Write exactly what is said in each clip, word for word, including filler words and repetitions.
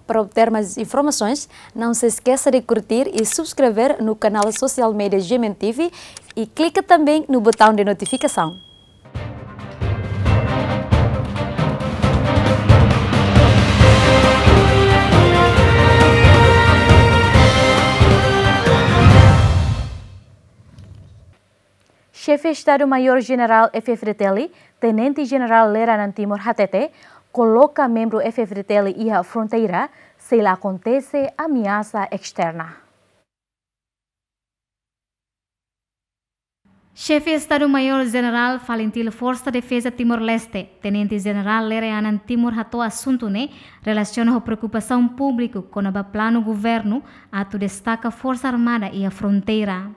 Para obter mais informações, não se esqueça de curtir e subscrever no canal social media G M N T V e clica também no botão de notificação. Xefe Estadu-Maiór Jenerál F-FDTL, Tenente Jenerál Lere Anan Timur hatete, koloka membru F-FDTL iha fronteira sei la akontese ameasa esterna. Xefe Estadu-Maiór Jenerál Falintil Forsa Defeza Timor-Leste, Tenente Jenerál Lere Anan Timur hato'o asuntu ne'e relasiona ho preokupasaun públiku kona-ba planu governu atu destaka Forsa Armada iha fronteira.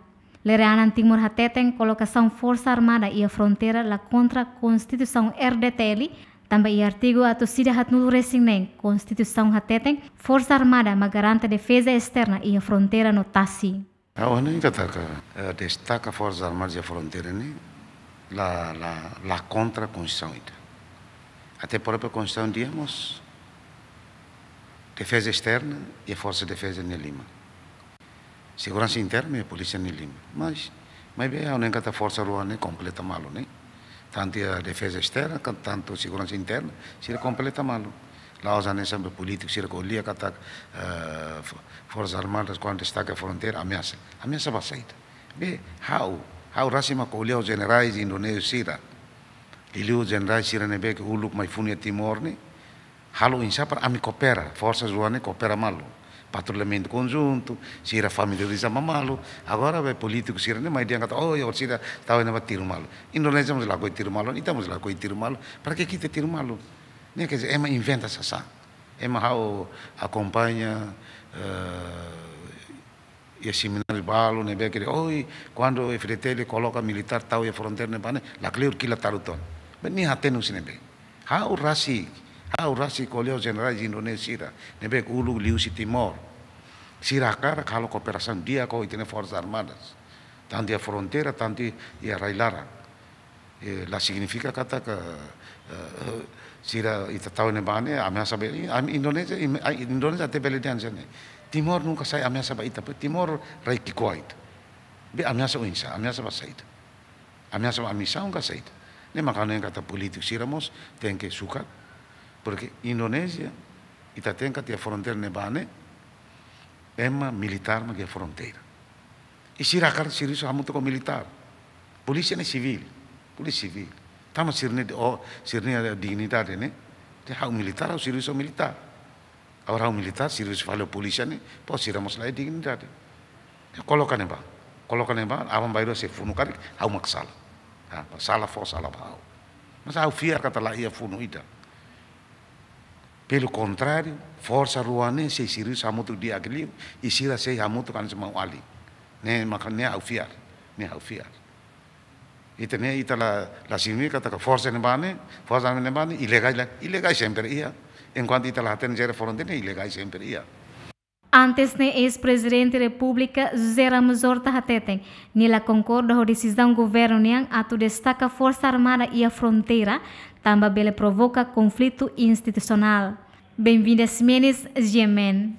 Lere Anan Timur hateten kolokasaun Forsa Armada iha fronteira la kontra Konstituisaun R D T L, tanba iha artigu atus ida haatnulu resin neen Konstituisaun hateten Forsa Armada mak garante defeza esterna iha fronteira no tasi. Ha'u hanoin katak, eh, destaka Forsa Armada iha fronteira ne'e la, la, la kontra Konstituisaun ida. Até própria Konstituisaun dehan mós defeza esterna iha Forsa Defeza nia liman. Seguransa interna iha polísia nia liman. Mas, maibé ha'u hanoin katak forsa rua ne'e kompleta malu ne'e. Tantu iha defeza esterna, kan-, tantu seguransa interna, sira kompleta malu. La'ós hanesan be polítiku sira ko'alia katak, eh, fo-, Forsa Armada kuandu destaka fronteira, ameasa. Ameasa ba saida? Be, ha'u, ha'u rasik mak ko'alia ho jenerais Indonézia sira. Liuliu jenerais sira ne'ebé ke uluk mai funu iha Timor ne'e, halo oinsá para ami koopera, forsa rua ne'e koopera malu. Patrullamentu konjuntu, sira familiariza malu. Agora be polítiku sira ne'e mai dehan katak, oh, ya, sira tau ne'ebá tiru malu. Indonézia mós lakohi tiru malu, ita mós lakohi tiru malu. Para ke ita tiru malu? Ne'e, quer dizer, ema inventa sasán. Ema ha'u akompaña, eh, iha semináriu balu ne'ebé ke, oi, kuandu F-FDTL koloka militár tau iha fronteira ne'ebá ne'e, lakleur kilat talu ton. Be nia hatene husi ne'ebé? Ha'u rasik, ha'u rasik ko'alia ho jenerais Indonézia sira ne'ebé ke uluk liuhusi Timor. Sira hakarak halo kooperasaun di'ak ho ita-nia Forsa Armadas. Tantu iha fronteira, tantu iha rai-laran. Eh, la signifika katak, eh, sira ita tau ne'ebá ne'e ameasa be, ami Indonézia, im-, ai, Indonézia até bele dehan hanesan ne'e. Timor nunka sai ameasa ba ita, be Timor rai ki'ikoan ita. Be ameasa oinsá, ameasa ba saida? Ameasa ba ami-nia nasaun ka saida? Ne'e mak ha'u hanoin katak polítiku sira mós tenke sukat, porque Indonézia, ita hatene katak iha fronteira ne'ebá ne'e, ema militár mak iha fronteira. I sira hakarak servisu hamutuk ho militár. Polísia ne'e sivíl, polísia sivíl. Tanba sira-nia, oh, sira-nia dignidade ne'e. Te ha'u militár, ha'u servisu militár. Agora ha'u militár, servisu fali ho polísia ne'e, pos sira mós la iha dignidade. Koloka ne'ebá, koloka ne'ebá, aban-bainrua sei funu karik, ha'u mak sala. Ah, sala fó, sala ba ha'u. Mas ha'u fiar katak la iha funu ida. Pelo contrário, forsa rua ne'e sei servisu hamutuk di'ak liu, i sira sei hamutuk hanesan maun-alin. Ne'e mak ne'e ha'u fiar, ne'e ha'u fiar. Ita ne'e, ita la, la signifika katak forsa ne'ebá ne'e, forsa ne'ebá ne'e ilegál, la, ilegál sempre iha. Enkuantu ita la hatene jere fronteira ne'e, ilegál sempre iha. Antes ne'e, eis-Prezidente Repúblika José Ramos Horta hateten, nia la konkorda ho desizaun governu nian atu destaka Forsa Armada iha fronteira, tanba bele provoka konflitu institusionál. Benvinda Ximenes, G M N.